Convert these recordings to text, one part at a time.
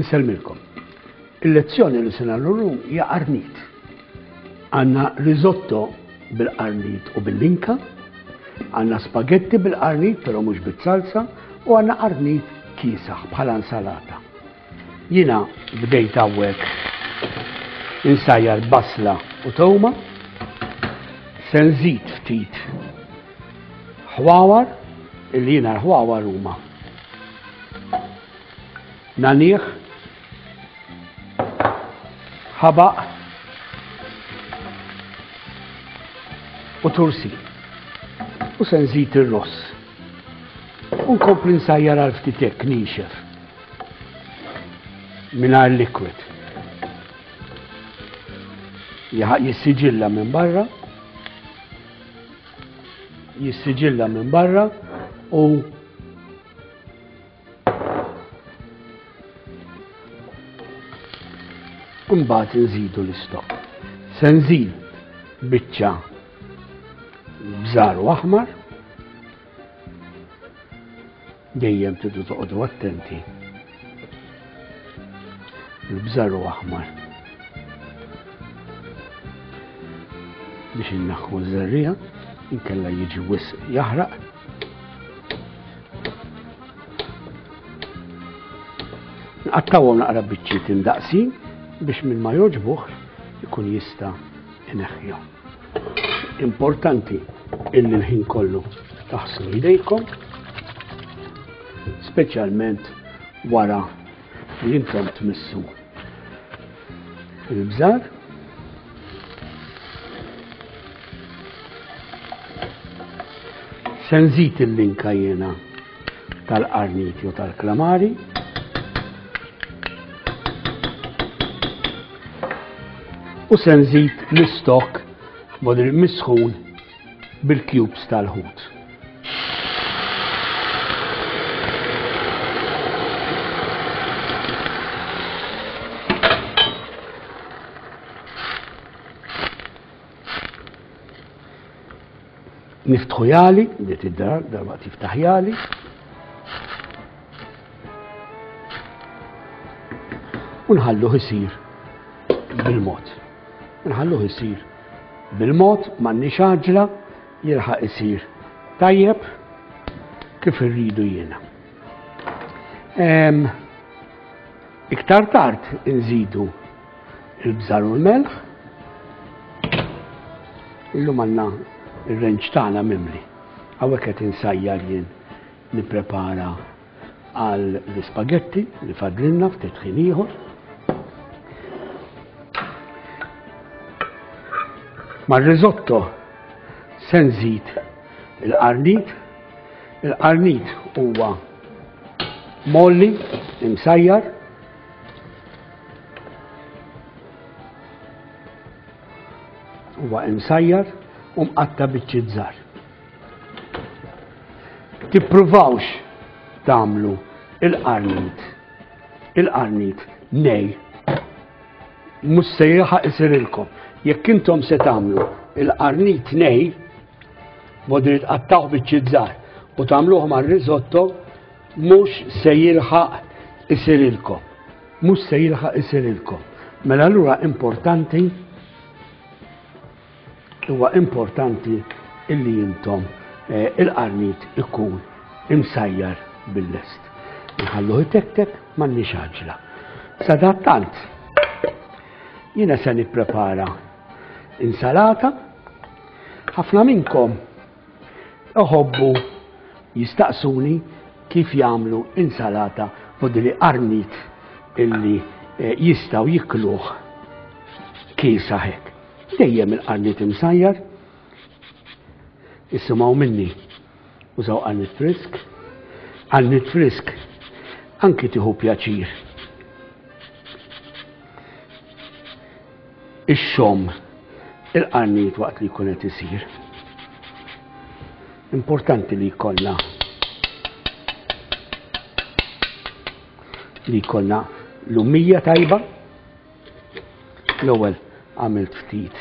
Insellmilkom. Il-lezzjoni li se nagħmlu llum hija qarnit. Għandna risotto bil-qarnit u bil-linka, għandna spagetti bil-qarnit però mhux bit-salsa u għandna qarnit kiesaħ bħala insalata. Jiena bdejt hawnhekk insajjar basla u tewma, se nżid ftit ħwawar, illi jiena l-ħwawar huma nagħnieh, ħabaq u tursi. U se nżid ir-ross. U nkompli nsajjar għal ftit hekk nixef. Mingħajr liquid. Jissiġilla minn barra. Jissiġilla minn barra u Imbagħad nżidu l-istokk. Se nżid biċċa bżar u aħmar. Dejjem tridu toqgħodu attenti. Il-bżar u aħmar. Biex innaħħu ż-żerriegħa, inkella jiġi wisq jaħraq. Nqattawhom naqra biċċiet indaqsin biex min ma jogħġbuh ikun jista' ineħħihom. Importanti illi l-ħin kollu taħslu jdejkom, speċjalment wara li intom tmissu il-bżar. Se nżid il-linka jiena tal-qarnit jew tal-klamari. U se nżid l-istok modri misħun bil-cubes tal-ħut. Niftħu jali, dit id-dar, darba tiftaħ jali. U nħalluh isir bil-mod. Nħalluh isir bil-mod, m'għandniex għaġla, jilħaq isir tajjeb kif irridu jiena. Iktar tard inżidu il-bżar u l-melħ. Illum għandna ir-renċ tagħna mimli. Hawnhekk qed insajjar jien nipprepara għal l-ispagetti li fadlinna ftit ħin ieħor. Mar-risotto se nżid il-qarnit. Il-qarnit huwa molli imsajjar Huwa imsajjar u mqatta' biċċiet żgħar. Tippruvawx tagħmlu il-qarnit. Il-qarnit nej. Mhux se jilħaq isirilkom. Jekk intom se tagħmlu il-qarnit nej, modri tqattawh biċċiet żgħar u tagħmluh mar-risotto, mhux se jilħaq isirilkom. Mhux se jilħaq isirilkom. Mela allura importanti huwa importanti illi intom eh, il-qarnit ikun imsajjar bil-lest. Nħalluh itektek m'għandniex għaġla. Sadattant, jiena se nipprepara insalata. Ħafna minnkom iħobbu jistaqsuni kif jagħmlu insalata podri qarnit illi eh, jistgħu jikluh kiesa hekk. Dejjem il-qarnit imsajjar, isimgħu minni, użaw qarnit frisk, qarnit frisk anki tieħu pjaċir. Ix-xom il-qarnit waqt li jkun qed isir. Importanti li jkollna li jkollna lumija tajba. L-ewwel għamilt ftit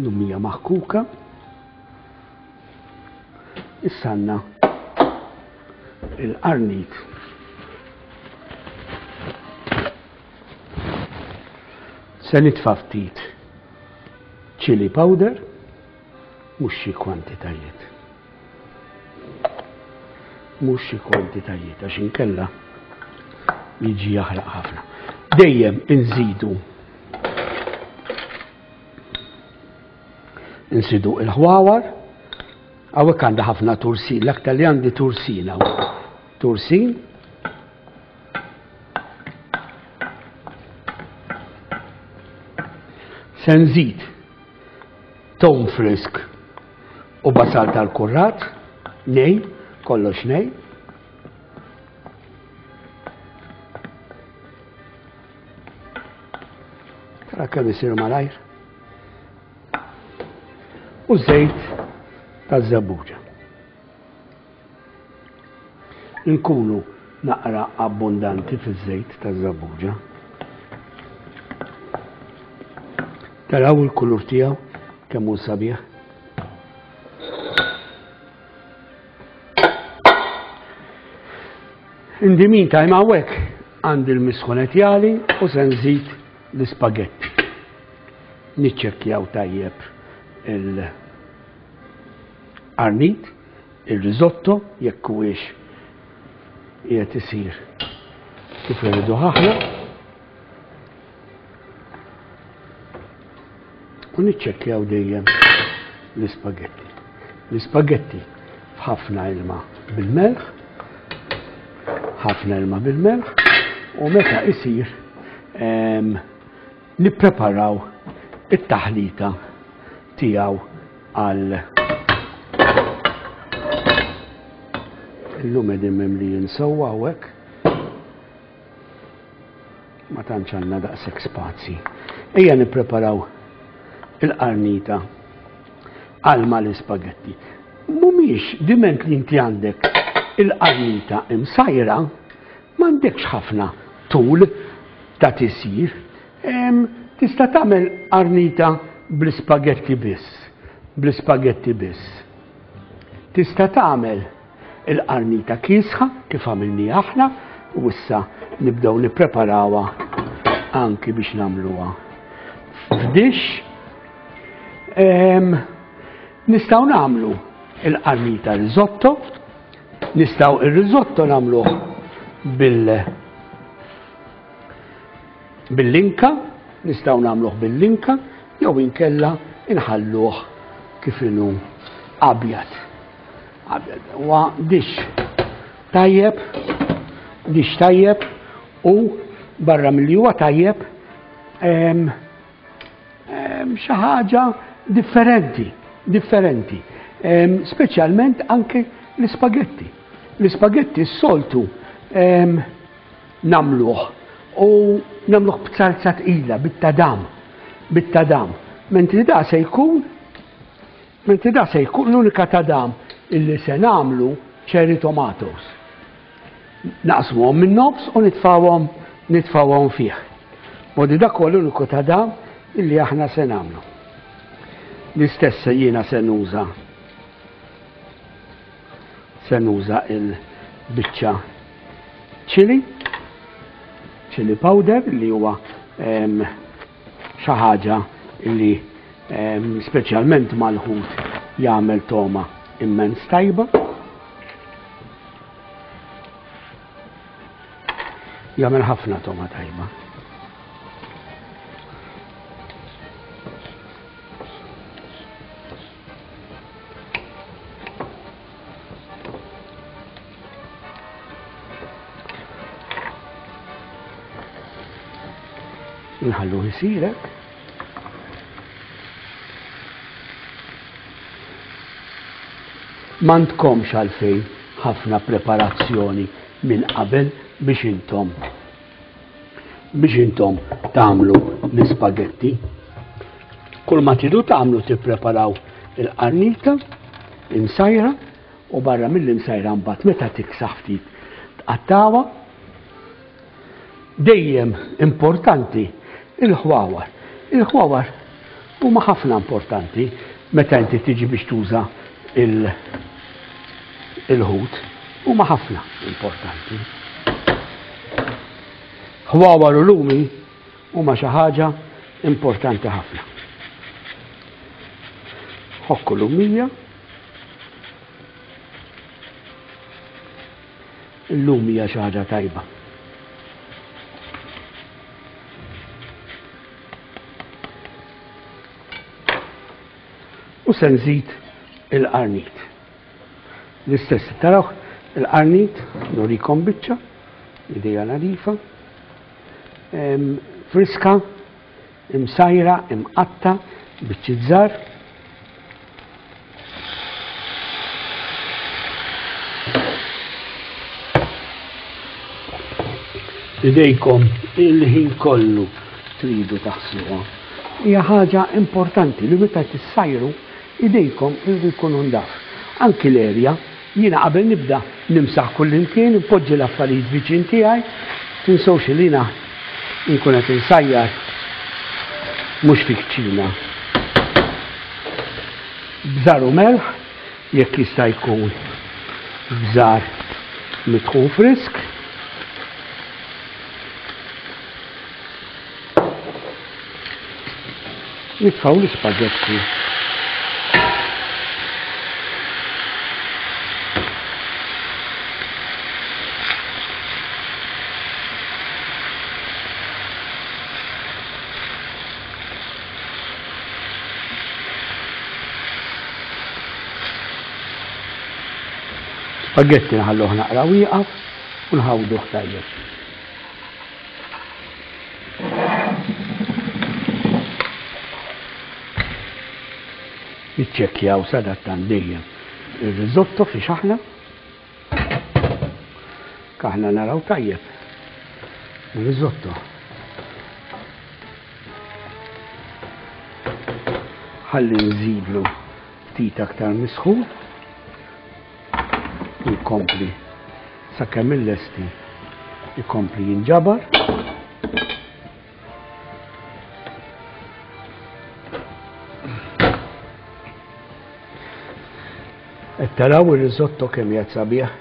lumija maħkuka. Issa għandna. Il-qarnit Se nitfa' ftit chili powder, mhux xi kwantitajiet. Mhux xi kwantitajiet għax inkella jiġi jaħraq ħafna. Dejjem inżidu Insidu il-ħwawar, hawnhekk għandha ħafna tursin, l-aktar li għandi tursin hawn. Tursin. Se nżid tom frisk u basal tal-kurrat, nej, kollox nej. Tara kemm isir malajr. U żejt taż-żebbuġa. Inkunu naqra abbondanti fiż-żejt taż-żebbuġa. Taraw il-kulur tiegħu kemm hu sabiħ. In the meantime hawnhekk għandi l-misħunet jali u se nżid l-ispagetti. Niċċekkjaw tajjeb il-qarnit, il-risotto jekk huwiex qiegħed isir kif irridu aħna. U niċċekkjaw dejjem l-ispagetti. L-ispagetti f'ħafna ilma bil-melħ, ħafna ilma bil-melħ, u meta isir nippreparaw it-taħlita tiegħu għal illum qegħdin mimlijin sewwa hawnhekk. Ma tantx għandna daqshekk spazji. Ejja nippreparaw il-qarnita għal mal-ispagetti. Mhumiex diment li inti għandek il-qarnita imsajra, m'għandekx ħafna tul ta' tisir. Tista' tagħmel qarnita bl-ispagetti biss, bl-ispagetti biss. Tista' tagħmel il-qarnita kiesħa kif għamilni aħna u issa nibdew nippreparawha anki biex nagħmluha f'dix. Nistgħu nagħmlu il-qarnita risotto, nistgħu ir-risotto nagħmluh bil bil-linka, nistgħu nagħmluh bil-linka, jew inkella inħalluh kif inhu abjad. Abjad huwa dix tajjeb, dix tajjeb u barra milli huwa tajjeb xi ħaġa differenti, differenti. Speċjalment anke l-ispagetti. L-ispagetti s-soltu nagħmluh u nagħmluh b'salza tqila, bit-tadam, bit-tadam. Mentri da se jkun mentri da se jkun l-unika tadam illi se nagħmlu cherry tomatoes. Naqsmuhom minn nofs u nitfawhom nitfawhom fih. Modi dak huwa l-uniku tadam illi aħna se nagħmlu. L-istess jiena se nuża Se nuża il-biċċa chili, chili powder li huwa xi ħaġa li speċjalment mal-ħut jagħmel toma immens tajba. Jagħmel ħafna toma tajba. Nħallu jisirek. M'għandkomx għalfejn ħafna preparazzjoni minn qabel biex intom biex intom tagħmlu l-ispagetti. Kull ma tridu tagħmlu tippreparaw il-qarnita imsajra u barra mill-imsajra mbagħad meta tiksaħ ftit tqattawha. Dejjem importanti il-ħwawar. Il-ħwawar huma ħafna importanti meta inti tiġi biex tuża il-ħut. Huma ħafna importanti. Ħwawar u lumi huma xi ħaġa importanti ħafna. Ħokku lumija. Illum hija xi ħaġa tajba. U se nżid il-qarnit. L-istess tarawh il-qarnit nurikom biċċa, idejja nadifa, friska, imsajra, imqatta, biċċiet żgħar. Idejkom il-ħin kollu tridu taħsluha. Hija ħaġa importanti li meta tissajru idejkom iridu jkunu ndaf. Anki l-erja, jiena qabel nibda nimsaħ kullimkien, npoġġi l-affarijiet viċin tiegħi, tinsewx li jiena nkun qed insajjar mhux fi kċina. Bżar u melħ, jekk jista' jkun bżar mitħun frisk. Nitfgħu l-ispagetti. Spaghetti nħalluh naqra wieqaf u nħawduh tajjeb. Niċċekkjaw sadattant dejjem ir-risotto fiex aħna. Kaħna naraw tajjeb. Ir-risotto. Ħalli nżidlu ftit aktar misħun. Jkompli sakemm il-lesti ikompli jinġabar. Qed taraw ir-risotto kemm qiegħed sabiħ.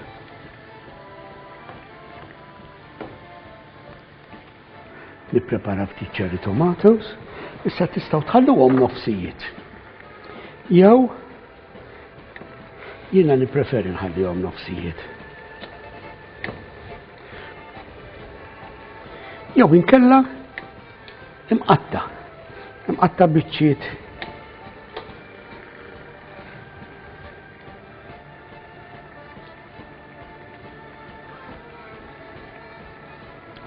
Nipprepara ftit cherry tomatoes, issa tistgħu tħalluhom nofsijiet. Jew jiena nippreferi nħallihom nofsijiet. Jew inkella imqatta, imqatta biċċiet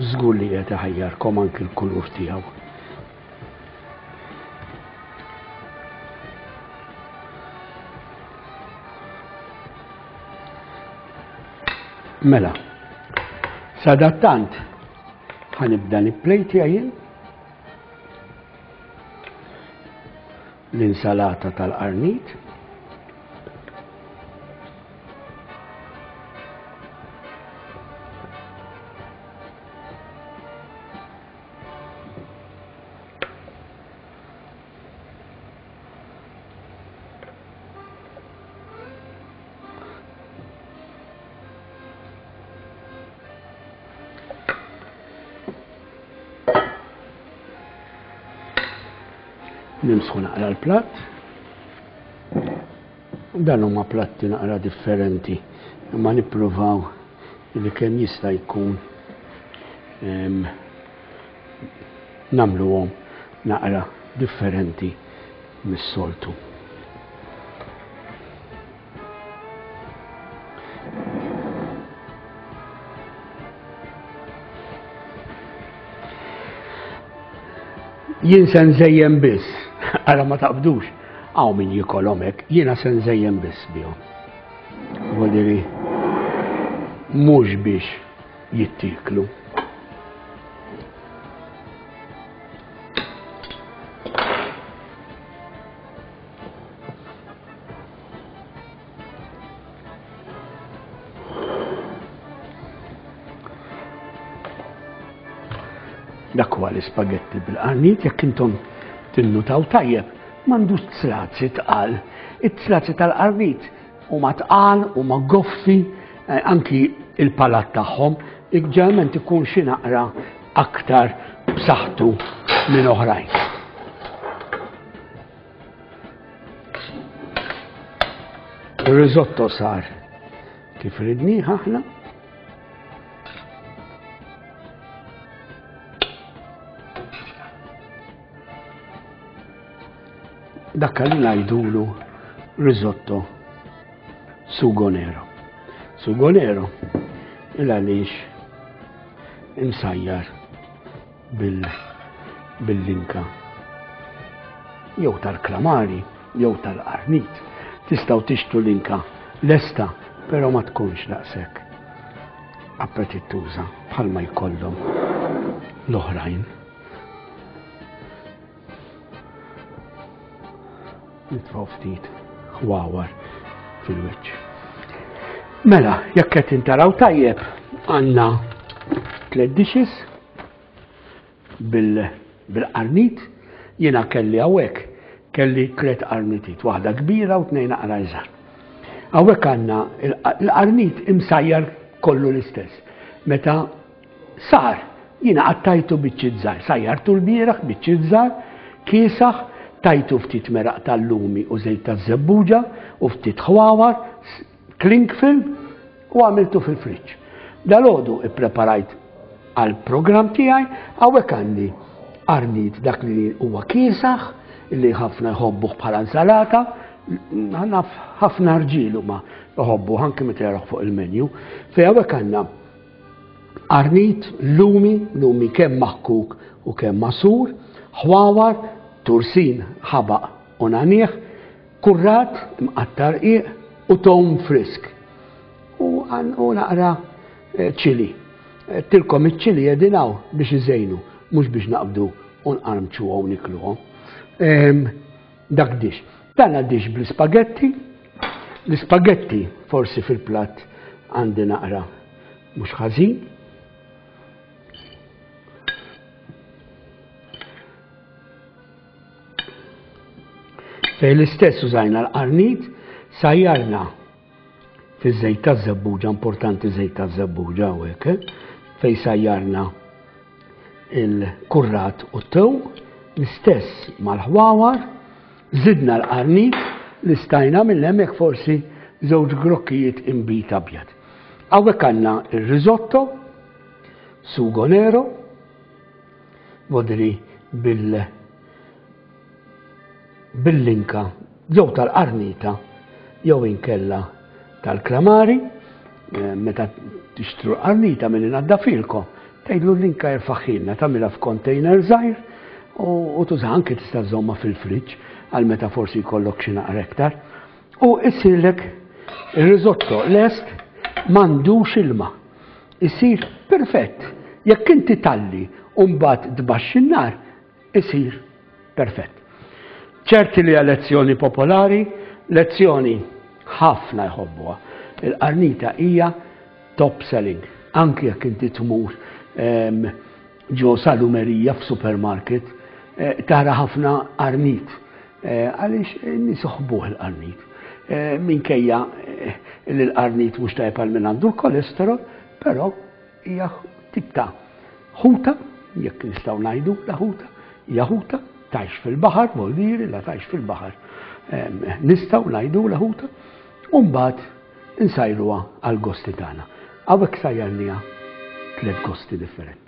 Żgur li qed iħajjarkom anki l-kulur tiegħu. Mela, sadattant ħanibda nipplejti jien l-insalata tal-qarnit. Nimsħu naqra l-platt. Dan huma platti naqra differenti, imma nippruvaw li kemm jista' jkun nagħmluhom naqra differenti mis-soltu. Jien se nżejjen biss, ara ma taqbdux, hawn min jikolhom hekk, jiena se nżejjen biss bihom. Vodiri, mhux biex jittieklu. Dak huwa l-ispagetti bil-qarnit jekk intom tinnutaw tajjeb m'għandux tlazi tqal. It-tlazi tal-qarnit huma tqal, huma goffi. Eh, anki il-palat tagħhom ġeneralment ikun xi naqra aktar b'saħħtu minn oħrajn. Ir-risotto sar kif ridnih aħna. Dak li ngħidulu risotto sugo nero. Sugo nero il għaliex imsajjar bil-linka jew tal-klamari jew tal-qarnit. Tistgħu tixtru linka lesta, però ma tkunx daqshekk appetittuża bħalma jkollhom l-oħrajn. Nitfgħu ftit ħwawar fil-wiċċ. Mela, jekk qed intaraw tajjeb, għandna tliet dishes bil-qarnit, jiena kelli hawnhekk kelli tliet qarnitit, waħda kbira u tnejn aqra iżgħar. Hawnhekk għandna l-qarnit imsajjar kollu l-istess. Meta Sar, jiena qattajtu biċċiet żgħar, sajjartu lbieraħ biċċiet żgħar, kiesaħ, tajtu ftit meraq tal-lumi u żejt taż-żebbuġa u ftit ħwawar, cling film u għamiltu fil-friġġ. Dalgħodu ippreparajt għall-programm tiegħi, hawnhekk għandi qarnit dak li huwa kiesaħ, li ħafna jħobbuh bħala insalata, naf ħafna rġiel huma jħobbuh anke meta jarawh fuq il-menu. Fejn hawnhekk għandna Qarnit, lumi, lumi kemm maħkuk u kemm magħsur, ħwawar, tursin, ħabaq u nagħniegħ, kurrat imqatta' rqiq u tewm frisk. U u naqra eh, ċili. Eh, tilkom iċ-ċili qegħdin hawn biex iżejnu, mhux biex naqbdu u nqarmċuhom nikluhom. Ehm, dak dix. Dan dix bl-ispagetti. L-ispagetti forsi fil-platt għandi naqra mhux ħażin. Fej l-istess użajna l-qarnit, sajjarna fiż-żejt taż-żebbuġa, importanti żejt taż-żebbuġa hawnhekk, eh? fej sajjarna il-kurrat u t-tew, l-istess mal-ħwawar, Żidna l-qarnit li stajna minn hemmhekk forsi żewġ grokkijiet inbid abjad. Hawnhekk għandna ir-risotto, sugo nero, modri bil bil-linka jew tal-qarnita jew inkella tal-klamari, eh, meta tixtru l-qarnita minn inaddafilkom, tgħidlu l-linka jerfaħħilna tagħmilha f'container żgħir u tuża anke tista' żomma fil-friġġ għal meta forsi jkollok xi naqra iktar. U issirlek ir-risotto lest m'għandux ilma. Isir perfett. Jekk inti talli u mbagħad tbaxxi n-nar, isir perfett. Ċerti li lezzjoni popolari, lezzjoni ħafna jħobbuha. Il-qarnita hija top selling. Anki jekk inti tmur ehm, ġo salumerija f'supermarket, eh, tara ħafna qarnit. Eh, għaliex nies iħobbuh il-qarnit. Eh, minkejja li l-qarnit mhux tajjeb għal min għandu l-kolesterol, però hija tip ta' ħuta, jekk nistgħu ngħidu la ħuta, hija ħuta, tgħix fil-baħar, voldiri la tgħix fil-baħar. Nistgħu ngħidu la ħuta, u mbagħad insajruha għal gosti tagħna. Hawnhekk sajjarniha tliet gosti differenti.